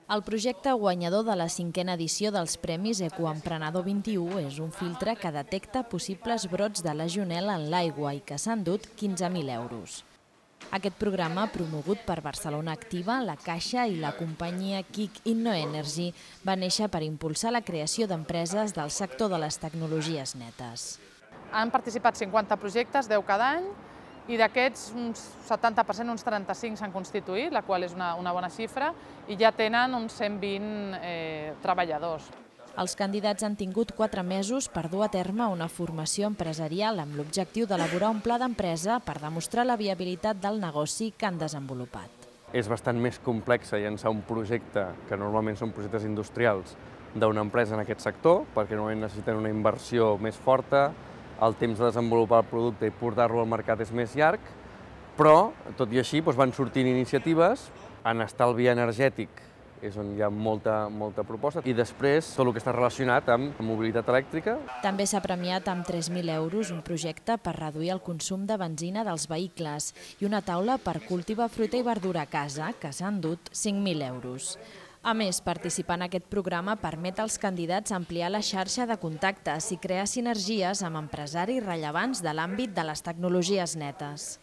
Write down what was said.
El projecte guanyador de la 5a edició dels Premis Ecoemprenedor 21 és un filtre que detecta possibles brots de legionel·la en l'aigua i que s'ha endut 15.000 euros. Aquest programa, promogut per Barcelona Activa, la Caixa i la companyia Kick InnoEnergy, va néixer per impulsar la creació d'empreses del sector de les tecnologies netes. Han participat 50 projectes, 10 cada any, i d'aquests uns 70%, uns 35 s'han constituït, la qual és una bona xifra, i ja tenen uns 120 treballadors. Els candidats han tingut 4 mesos per dur a terme una formació empresarial amb l'objectiu d'elaborar un pla d'empresa per demostrar la viabilitat del negoci que han desenvolupat. És bastant més complex llançar un projecte, que normalment són projectes industrials, d'una empresa en aquest sector, perquè normalment necessiten una inversió més forta, el temps de desenvolupar el producte i portar-lo al mercat és més llarg, però, tot i així, van sortint iniciatives. En estalvi energètic és on hi ha molta proposta, i després tot el que està relacionat amb mobilitat elèctrica. També s'ha premiat amb 3.000 euros un projecte per reduir el consum de benzina dels vehicles i una taula per cultivar fruita i verdura a casa, que s'ha endut 5.000 euros. A més, participar en aquest programa permet als candidats ampliar la xarxa de contactes i crear sinergies amb empresaris rellevants de l'àmbit de les tecnologies netes.